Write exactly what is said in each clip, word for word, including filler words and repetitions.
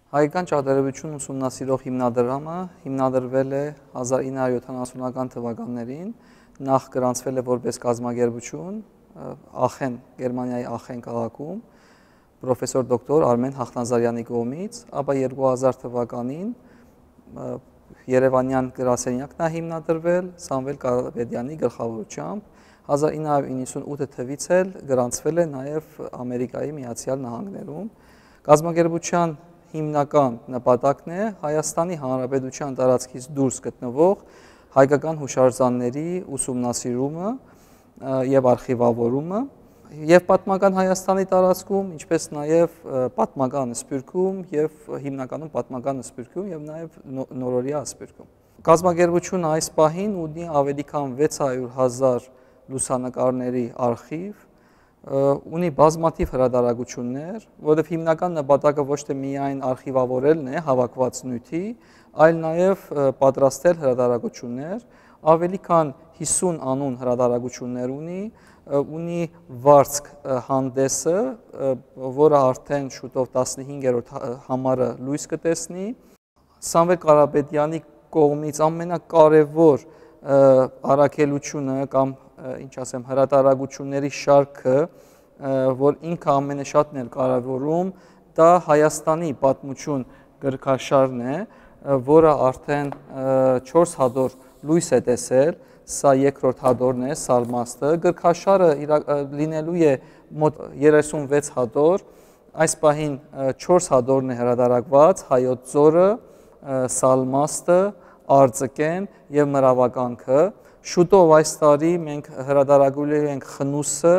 Հայկական ճարտարապետություն ուսումնասիրող հիմնադրամը հիմնադրվել է հազար ինը հարյուր յոթանասունական թվականներին, նախ գրանցվել է որպես կազմակերպություն Ախեն, Գերմանիայի Ախեն քաղաքում, պրոֆեսոր դոկտոր Արմեն Հախնազարյանի կողմից, ապա երկու հազար թվականին Երևանյան գրասենյակն է հիմնադրվել Սամվել Կարապետյանի գլխավորությամբ, հազար ինը հարյուր իննսունութ թվականից էլ գրանցվել է նաև Ամերիկայի Միացյալ Նահանգներում։ Կազմակերպության հիմնական նպատակն է Հայաստանի Հանրապետության տարածքից դուրս գտնվող հայկական հուշարձանների ուսումնասիրումը եւ արխիվավորումը եւ պատմական Հայաստանի տարածքում, ինչպես նաեւ պատմական Սփյուռքում եւ հիմնականում պատմական Սփյուռքում եւ նաեւ նորորյա Սփյուռքում։ Կազմակերպությունը այս պահին ունի ավելի քան վեց հարյուր հազար լուսանկարների արխիվ, ունի բազմաթիվ հրատարակություններ, որովհետև հիմնական նպատակը ոչ թե միայն արխիվավորելն է հավաքված նյութի, այլ նաև պատրաստել հրատարակություններ, ավելի քան հիսուն անուն հրատարակություններ ունի, ունի վարձք հանդեսը, որը արդեն շուտով տասնհինգերորդ համարը լույս կտեսնի։ Սամվել Կարապետյանի կողմից ամենակարևոր առաքելությունը կամ ինչ ասեմ հրատարակությունների շարքը, որ ինքը ամենաշատն էլ կարևորում, դա Հայաստանի պատմություն գրքաշարն է, որը արդեն չորս հատոր լույս է տեսել, սա երկրորդ հատորն է, Սալմաստը, գրքաշարը լինելու է մոտ երեսունվեց հատոր, այս պահին չորս հատորն է հրատարակված, Հայոց ձորը, Սալմաստը, Արձկեն եւ Մրավականքը։ Շուտով այս տարի մենք հրատարակելու ենք Խնուսը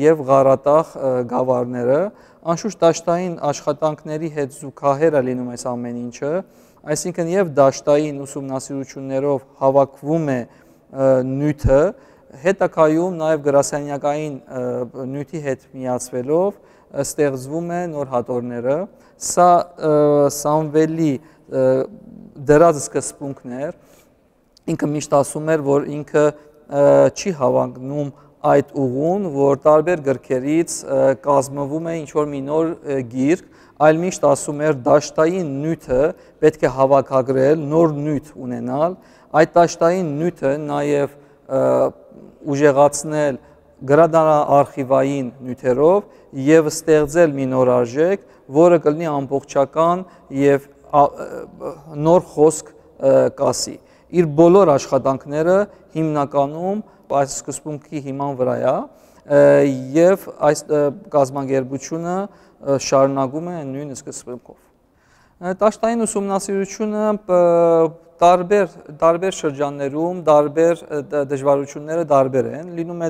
եւ Ղարատաղ գավառները, անշուշտ դաշտային աշխատանքների հետ զուգահեռ է լինում այս ամեն ինչը, այսինքն եւ դաշտային ուսումնասիրություններով հավաքվում է նյութը, հետագայում նաեւ գրասենյակային նյութի հետ միացվելով ստեղծվում է նոր հատորները։ Սա Սամվելի դրած սկզբունքն էր, ինքը միշտ ասում էր, որ ինքը չի հավակնում այդ ուղուն, որ տարբեր գրքերից կազմվում է ինչ-որ մի նոր գիրք, այլ միշտ ասում էր դաշտային նյութը պետք է հավաքագրել, նոր նյութ ունենալ, այդ դաշտային նյութը նաև ուժեղացնել գրադարանարխիվային նյութերով եւ ստեղծել մի նոր արժեք, որը կլինի ամբողջական եւ նոր խոսք կասի։ Իր բոլոր աշխատանքները հիմնականում այս սկզբունքի հիման վրա է եւ այս կազմակերպությունը շարունակում է նույն սկզբունքով։ Դաշտային ուսումնասիրությունը տարբեր տարբեր շրջաններում տարբեր դժվարությունները տարբեր են, լինում է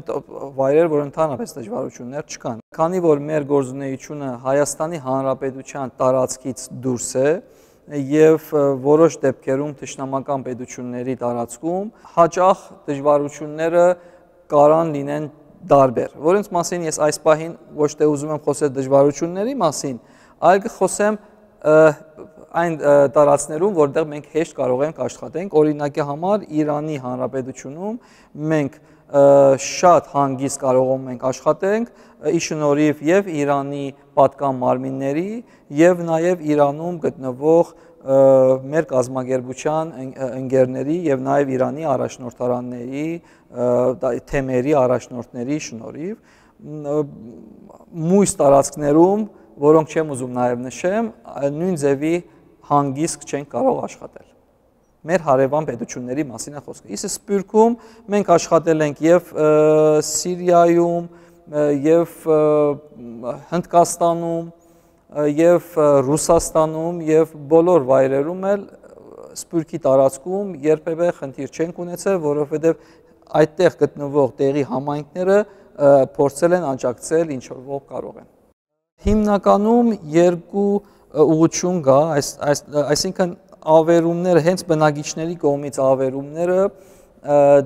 վայրեր, որ ընդհանրապես դժվարություններ չկան։ Քանի որ մեր գործունեությունը Հայաստանի Հանրապետության տարածքից դուրս է, եւ որոշ դեպքերում թշնամական պետությունների տարածքում հաճախ դժվարությունները կարան լինեն տարբեր, որոնց մասին ես այս պահին ոչ թե ուզում եմ խոսել դժվարությունների մասին, այլ կխոսեմ այն տարածքներում, որտեղ մենք հեշտ կարող ենք աշխատենք, օրինակի համար Իրանի Հանրապետությունում մենք շատ հանգիստ կարող ենք աշխատենք, ի շնորհիվ եւ Իրանի պատկան մարմինների եւ նաեւ Իրանում գտնվող մեր կազմակերպության ընկերների եւ նաեւ Իրանի առաջնորդարանների, թեմերի առաջնորդների շնորհիվ մույս տարածքներում, որոնք չեմ ուզում նաեւ նշեմ, նույն ձևի հանգիստ չեն կարող աշխատել։ Մեր հարևան պետությունների մասին է խոսքը։ Իսկ Սփյուռքում մենք աշխատել ենք եւ Սիրիայում, եւ Հնդկաստանում, եւ Ռուսաստանում, եւ բոլոր վայրերում էլ Սփյուռքի տարածքում երբևէ խնդիր չենք ունեցել, որովհետեւ այդտեղ գտնվող տեղի համայնքները փորձել են աջակցել ինչ որ կարող են։ Հիմնականում երկու ուղղություն կա, այսինքն ավերումները, հենց բնակիչների կողմից ավերումները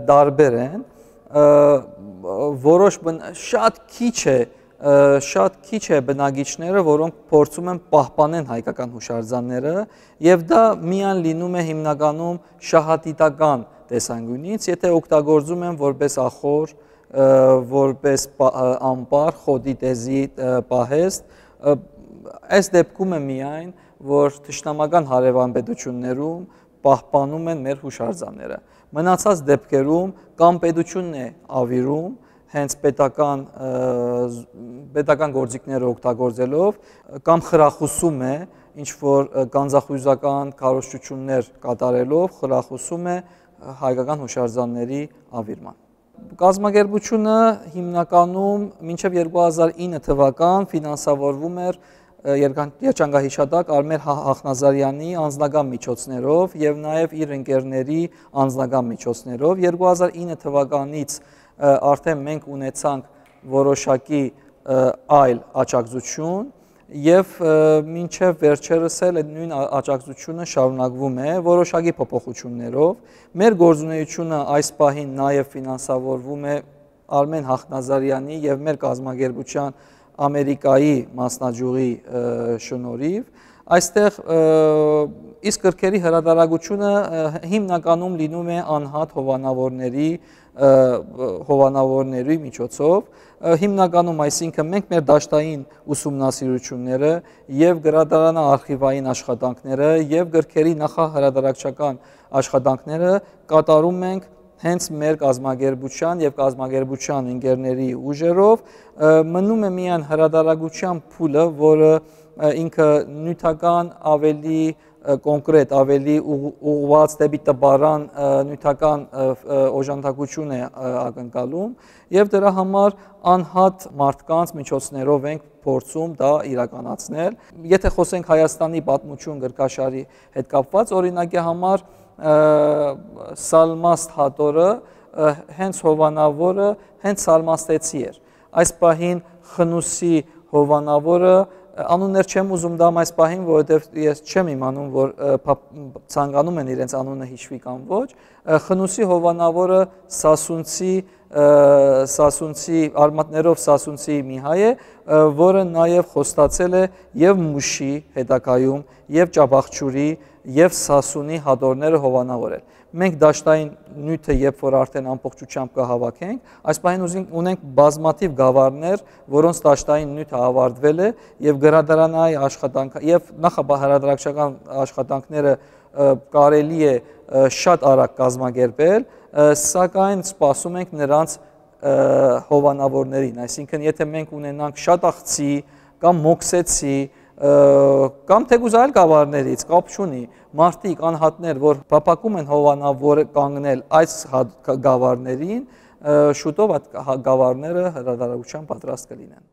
տարբեր են, որոշ շատ քիչ է, շատ քիչ է բնակիչները, որոնք փորձում են պահպանել հայկական հուշարձանները, եւ դա միայն լինում է հիմնականում շահադիտական տեսանկյունից, եթե օգտագործում են որպես ախոր, որպես ամպար, խոտի տեզի պահեստ, այս դեպքում է միայն, որ թշնամական հարևան պետություններում պահպանում են մեր հուշարձանները։ Մնացած դեպքերում կամ պետությունն է ավիրում, հենց պետական պետական գործիքները օգտագործելով, կամ խրախուսում է ինչ որ գանձախույզական քարոզչություններ կատարելով, խրախուսում է հայկական հուշարձանների ավիրման։ Կազմակերպությունը հիմնականում մինչև երկու հազար ինը թվական ֆինանսավորվում էր երջանկահիշատակ Արմեն Հախնազարյանի անձնական միջոցներով եւ նաեւ իր ընկերների անձնական միջոցներով։ երկու հազար ինը թվականից արդեն մենք ունեցանք որոշակի այլ աջակցություն եւ մինչեւ վերջերս էլ այդ նույն աջակցությունը շարունակվում է որոշակի փոփոխություններով։ Մեր գործունեությունը այս պահին նաեւ ֆինանսավորվում է Արմեն Հախնազարյանի եւ մեր կազմակերպության Ամերիկայի մասնաճյուղի շնորհիվ։ Այստեղ իսկ գրքերի հրատարակությունը հիմնականում լինում է անհատ հովանավորների հովանավորների միջոցով, հիմնականում այսինքն մենք մեր դաշտային ուսումնասիրությունները եւ գրադարանը արխիվային աշխատանքները եւ գրքերի նախահրատարակչական աշխատանքները կատարում ենք հենց մեր կազմակերպության եւ կազմակերպության ընկերների ուժերով, մնում է միայն հրատարակության փուլը, որը ինքը նյութական ավելի կոնկրետ, ավելի ուղղված դեպի տպարան նյութական օժանդակություն է ակնկալում եւ դրա համար անհատ մարդկանց միջոցներով ենք փորձում դա իրականացնել։ Եթե խոսենք Հայաստանի պատմություն գրքաշարի հետ կապված, օրինակի համար Սալմաստ Հատորը հենց հովանավորը հենց սալմաստեցի էր։ Այս պահին Խնուսի հովանավորը անուններ չեմ ուզում դամ այս պահին, որովհետև ես չեմ իմանում, որ ցանկանում են իրենց անունը հիշվի կամ ոչ։ Խնուսի հովանավորը Սասունցի Սասունցի արմատներով Սասունցի մի հայ է, որը նաև խոստացել է եւ Մուշի հետակայում, եւ Ճաբախչուրի, եւ Սասունի հատորները հովանավորել։ Մենք դաշտային նյութը երբ որ արդեն ամբողջությամբ կհավաքենք, այս պահին ունենք բազմաթիվ գավառներ, որոնց դաշտային նյութը ավարտվել է եւ գրադարանային աշխատանք եւ նախահրատարակչական աշխատանքները կարելի է շատ արագ կազմակերպել, սակայն սպասում ենք նրանց հովանավորներին, այսինքն եթե մենք ունենանք շատ աղցի կամ մոքսեցի կամ թեկուզ այլ գավառներից կապ չունի, մարդիկ անհատներ, որ փափակում են հովանավոր կանգնել այս գավառներին, շուտով այդ գավառները հրատարակության պատրաստ կլինեն։